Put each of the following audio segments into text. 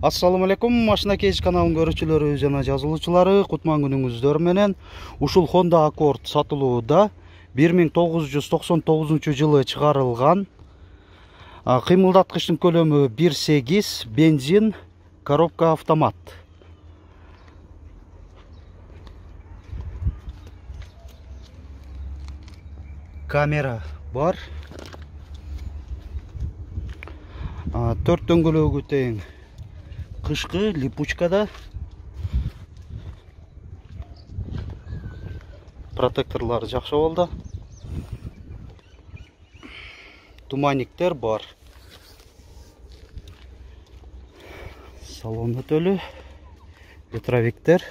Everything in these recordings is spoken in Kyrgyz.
Assalamu alaikum, Машина Кейс каналынын көрүүчүлөрү жана жазылуучулары, кутман күнүңүздөр менен. Ушул Honda Accord сатылууда 1999 чыгарылган. Кыймылдаткычтын көлөмү 1.8, бензин, коробка автомат. Камера бар. 4 дөңгөлөгү тең. Кышкы липучкада. Протекторлары жакшы болду. Туманниктер бар. Салон өтөлү. Ветровиктер.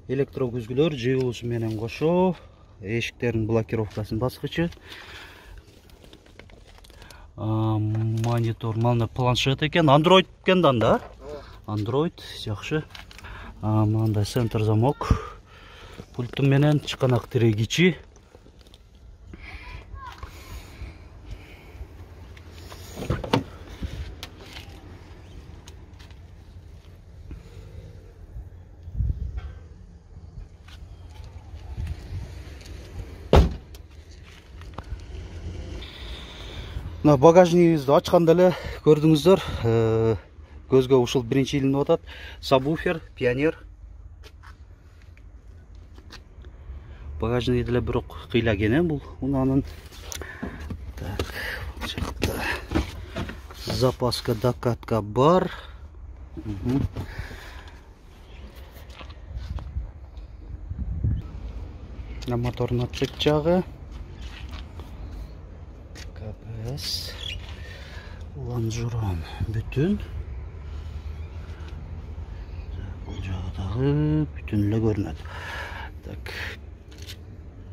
Электрокүзгүлөр жыйылуусу менен кошо. Эшиктердин блокировкасын баскычы. Монитор, мана планшет экен, Android экен да? Android, жакшы. Мында центр замок. Пульт менен чыканак тирегичи. Багажнигибизди ачканда эле көрдүңүздөр. Көзгө ушул биринчи илинип атат. Сабвуфер, пионер. Багажниги деле бирок кыйлаген бул унанын. Так, бул жакта запаска, докатка бар. Мотордун отчет жагы. КПС. Лонжерон бүтүн. Бул жагдагы бүтүн эле көрүнөт. Так.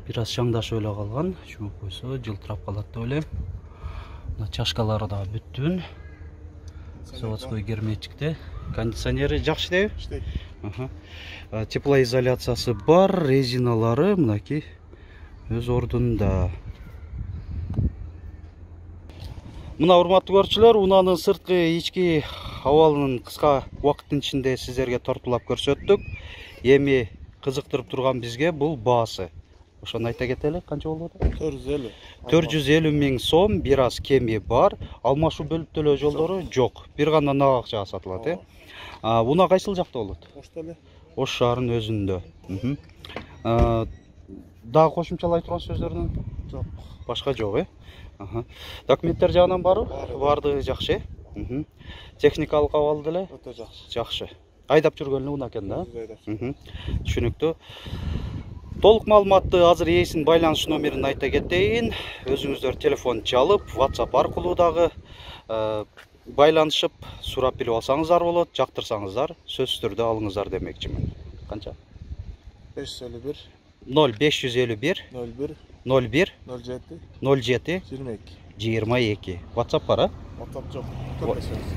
Бир аз шаңдашып эле калган, чумуп койсо жылтырап калат деп элем. Мына чашкалары да бүтүн. Заводской герметикте. Кондиционери жакшы дейби? Иштейт. Теплоизоляциясы бар, резиналары мынакей өз ордунда. Мына урматтуу көрүүчүлөр, унаанын сырткы ички абалынын кыска убакыттын ичинде сиздерге тортулап көрсөттүк. Эми кызыктырып турган бизге бул баасы. Ошону айта кетели, канча болуп атат? 450. 450 миң сом, бир аз кеми бар. Алмашуу бөлүп төлөө жолдору жок. Бир гана нак акчага сатылат, э? Уна кайсыл жакта болот? Ошто эле. Ош шаарынын өзүндө. Дагы кошумчалай турган сөздөрүн жок. Башка жок, э? Документтер жагынан барбы? Бардыгы жакшы, э? Техникалык абалы деле? Өтө жакшы. Жакшы. Айдап жүргөнү уна экен да? Түшүнүктүү. Толук маалыматты азыр ээсинин байланыш номерин айта кетейин. Өзүңүздөр телефон чалып, WhatsApp аркылуу дагы байланышып, сурап билип алсаңыздар болот, жактырсаңыздар, сөзсүз түрдө алыңыздар демекчимин. Канча? 551 0551 01 07 22. WhatsApp бар, а? WhatsApp жок.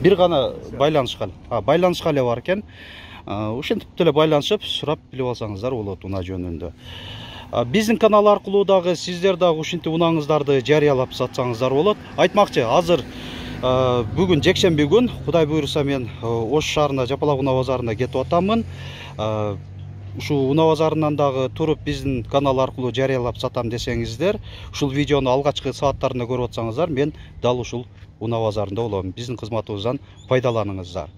Бир гана байланышка эле бар экен. Ушинтип деле байланышып, сурап билип алсаңыздар болот уна жөнүндө. Биздин канал аркылуу дагы сиздер дагы ушинтип унаңыздарды жарыялап сатсаңыздар болот. Айтмакчы, азыр бүгүн жекшемби күн, Кудай буйруса мен Ош шаарына Жапалак унаа базарына кетип атамын. Ушул унаа базарынан дагы туруп биздин канал аркылуу жарыялап сатам десеңиздер, ушул видеону алгачкы сааттарында көрүп атсаңыздар, мен дал ушул унаа базарында болом. Биздин кызматыбыздан пайдаланыңыздар.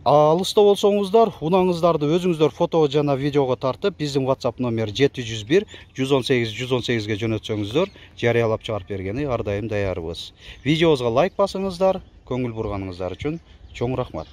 Алыста болсоңуздар, унаңыздарды өзүңүздөр фото жана видеого тартып, биздин WhatsApp номер 701 118 118ге жөнөтсөңүздөр, жарыялап чыгарып бергени ар дайым даярбыз. Видеобузга лайк басыңыздар, көңүл бурганыңыздар үчүн чоң рахмат.